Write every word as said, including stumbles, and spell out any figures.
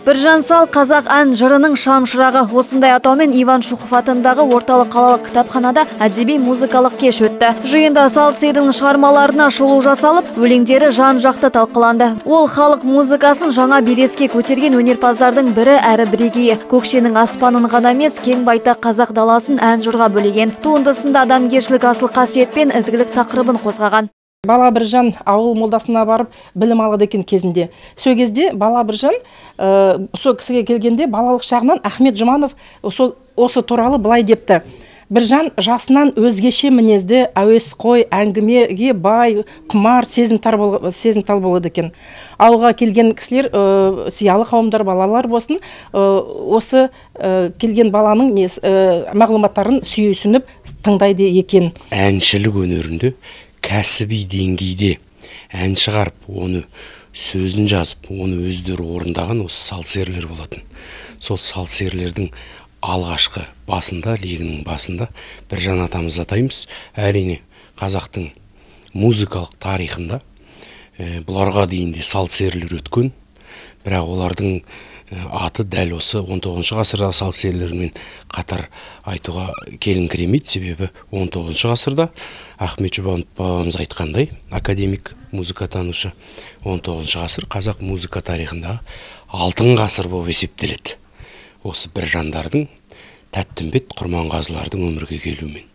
Біржан Сал қазақ ән жырының шамшырағы. Осындай атаумен Иван Шухов атындағы орталық қалалық кітапханада әдеби музыкалық кеш өтті. Жиында Сал Сердің шығармаларына шолу жасалып, өлеңдері жан-жақты талқыланды. Ол халық музыкасын жаңа белеске көтерген өнерпаздардың бірі әрі бірегейі. Көкшенің аспанын ғана емес, кең байтақ қазақ даласын ән жырға бөлеген. Туындысында адамгершілік асыл қасиет пен ізгілік тақырыбын қозғаған. Бала Біржан ауыл молдасына барып білім алады екен кезінде. Сол кезде Бала Біржан сол кісіге келгенде балалық шағынан Ахмет Жұманов осы туралы былай депті. Біржан жасынан өзгеше мінезді, әуесқой, әңгімеге бай, құмар, сезімтал болады екен. Ауылға келген кісілер, сиялы қауымдар, балалар болсын, осы келген баланың мағлұматтарын сүйсініп тыңдайды екен. Әншілік өнерінде кәсіби деңгейде ән шығарып, оны сөзін жазып, оны өздері орындаған осы салсерлер болатын. Сол салсерлердің алғашқы басында, легінің басында Біржан атамыз атаймыз. Әрине, қазақтың музыкалық тарихында бұларға дейінде салсерлер өткен, бірақ олардың аты дәл осы он тоғызыншы ғасырда салсерлермен қатар айтуға келіңкіремейді, себебі он тоғызыншы ғасырда Ахмет Жұбанов бабамыз айтқандай, академик музыкатанушы, он тоғызыншы ғасыр қазақ музыка тарихында алтын ғасыр болып есептеледі. Осы Біржандардың, Тәттімбет Құрманғазылардың өмірге келуімен.